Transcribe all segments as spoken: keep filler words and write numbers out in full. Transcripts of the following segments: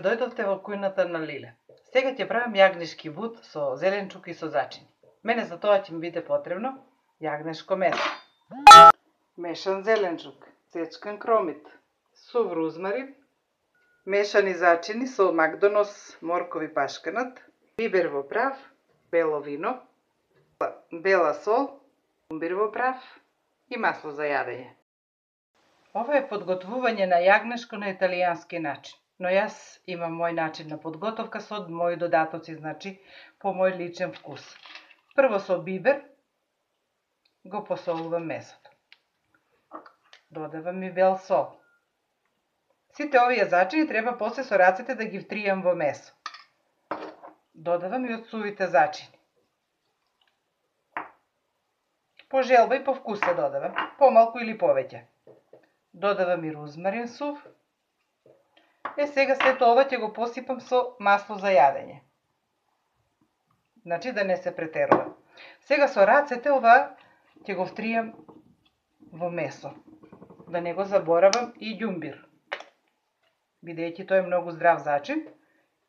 дојдовте во кујната на Лиле. Сега ќе правам јагнешки бут со зеленчук и со зачини. Мене за тоа ќе ми биде потребно јагнешко месо, мешан зеленчук, сечкан кромит, сув рузмарин, мешани зачини со макдонос, моркови пашканат, бибер во прав, бело вино, бела сол, кумбир во прав и масло за јадење. Ова е подготвување на јагнешко на италијански начин, но јас имам мој начин на подготовка со мои додатоци, значи по мој личен вкус. Прво со бибер го посолувам месото. Додавам и бел сол. Сите овие зачини треба после со рацете да ги втријам во месо. Додавам и од сувите зачини. По желба и по вкус се додавам, помалку или повеќе. Додавам и рузмарин сув. Е, сега сето ова ќе го посипам со масло за јадење. Значи да не се претерува. Сега со рацете ова ќе го втријам во месо. Да не го заборавам и ѓумбир. Бидејќи тој е многу здрав зачин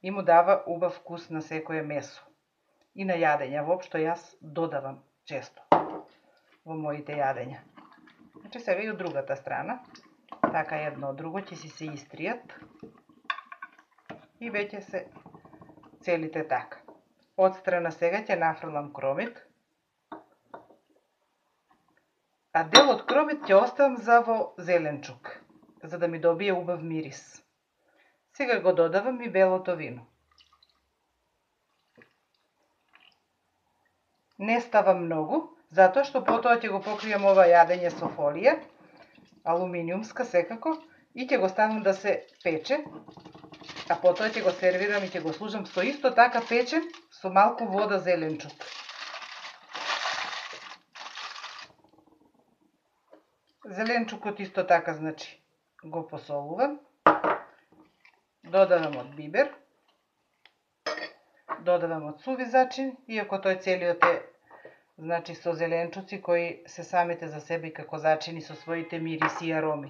и му дава убав вкус на секое месо. И на јадење, воопшто јас додавам често во моите јадења. Значи сега и од другата страна, така едно од друго ќе си се истријат и веќе се целите така. Од страна сега ќе нафрлам кромит, а дел од кромит ќе оставам за во зеленчук, за да ми добие убав мирис. Сега го додавам и белото вино. Не ставам многу, затоа што потоа ќе го покријам ова јадење со фолија, алуминиумска секако, и ќе го ставам да се пече, а потоа ќе го сервирам и ќе го служам со исто така печен, со малку вода зеленчук. Зеленчукот исто така, значи, го посолувам, додавам од бибер, додавам од суви зачин, иако тој целиот е, значи, со зеленчуци кои се самите за себе како зачини со своите мириси и ароми.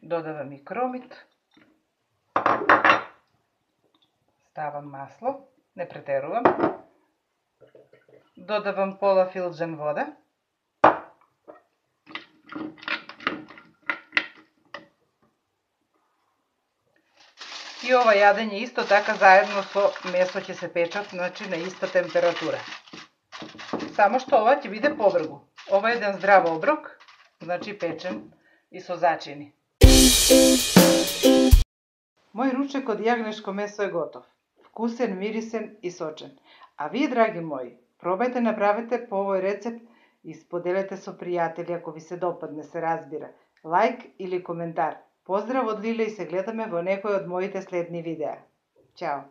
Додавам и кромит. Ставам масло, не претерувам. Додавам пола филџан вода. И ова јадење исто така заедно со месо ќе се печат, значи на иста температура. Само што ова ќе биде побргу. Ова е еден здрав оброк, значи печен и со зачини. Мој ручек од јагнешко месо е готов. Вкусен, мирисен и сочен. А вие, драги мои, пробајте, направете по овој рецепт и споделете со пријатели ако ви се допадне, се разбира. Лајк или коментар. Поздрав од Лиле и се гледаме во некој од моите следни видеа. Чао!